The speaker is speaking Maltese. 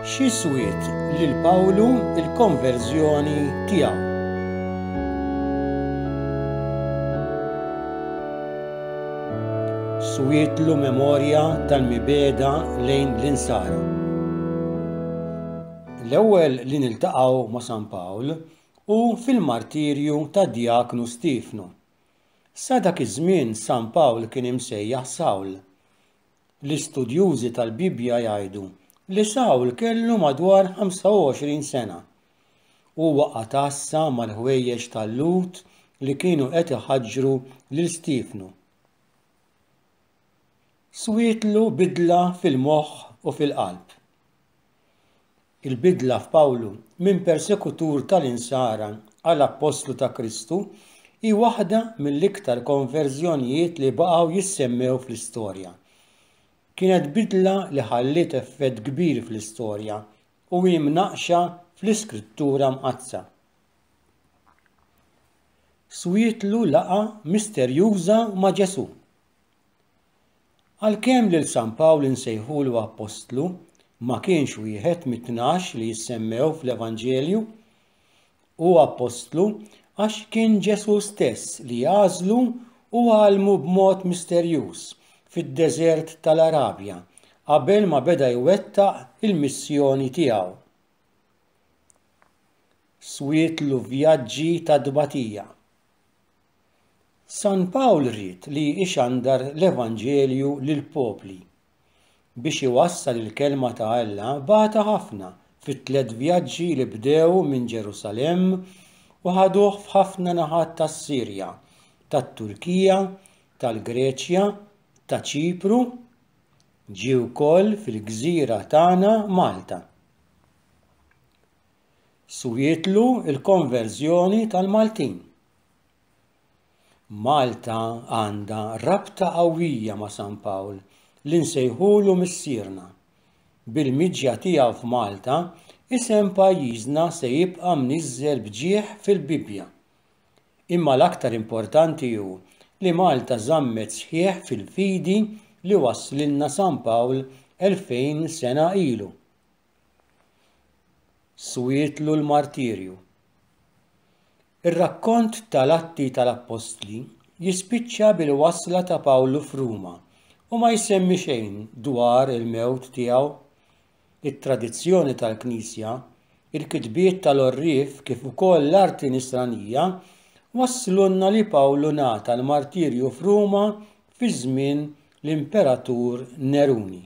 Xi swiet lil Pawlu l-konverżjoni tiegħu? Swietlu memorja tal-mibegħda lejn l-Insara. L-ewwel li niltaqgħu ma' San Pawl hu fil-martirju tad-djaknu Stiefnu. Sa dak iż-żmien San Pawl kien imsejjaħ Sawl. L-istudjużi tal-Bibbja jgħidu li Sawl kellu madwar 25 sena. Huwa qagħad għassa mal-ħwejjeġ tal-Lhud li kienu qed iħaġġru lil Stiefnu. Swietlu bidla fil-moħħ u fil-qalb. Il-bidla f'Pawlu minn persekutur tal-Insara għal appostlu ta' Kristu hi waħda mill-iktar konverżjonijiet li baqgħu jissemmew fl-istorja. Kienet bidla li ħalliet effett kbir fl-istorja u hi mnaqqxa fl-Iskrittura Mqaddsa. Swietlu laqgħa misterjuża ma' Ġesù. Għalkemm lil San Pawl insejħulu appostlu, ma kienx wieħed mit-tnax li jissemmew fl-Evanġelju. Hu appostlu għax kien Ġesù stess li għażlu u għallmu b'mod misterjuż fid-deżert tal-Arabja qabel ma beda jwettaq il-missjoni tiegħu. Swietlu vjaġġi ta' tbatija. San Pawl ried li jxandar l-Evanġelju lill-popli. Biex iwassal il-Kelma ta' Alla bata ħafna fit-tlett vjaġġi li bdew minn Ġerusalemm u ħaduh f'ħafna naħat tas-Sirja, tat-Turkija, tal-Greċja, ta' Ċipru. Ġie wkoll fil-gżira tagħna Malta. Swietlu l-konverżjoni tal-Maltin. Malta għandha rabta qawwija ma' San Pawl li nsejħulu missierna. Bil-miġja tiegħu f'Malta, isem pajjiżna se jibqa' mniżżel b'ġieħ fil-Bibbja. Imma l-aktar importanti hu li Malta żammet sħiħ fil-fidi li wasslilna San Pawl 2000 sena ilu. Swietlu l-martirju. Ir-rakkont tal-Atti tal-Appostli jispiċċa bil-wasla ta' Pawlu f'Ruma u ma jsemmi xejn dwar il-mewt tiegħu. It-tradizzjoni tal-Knisja, il-kitbiet tal-għorrief kif ukoll l-arti Nisranija wasslulna li Pawlu ngħata l-martirju f'Ruma fi żmien l-Imperatur Neruni.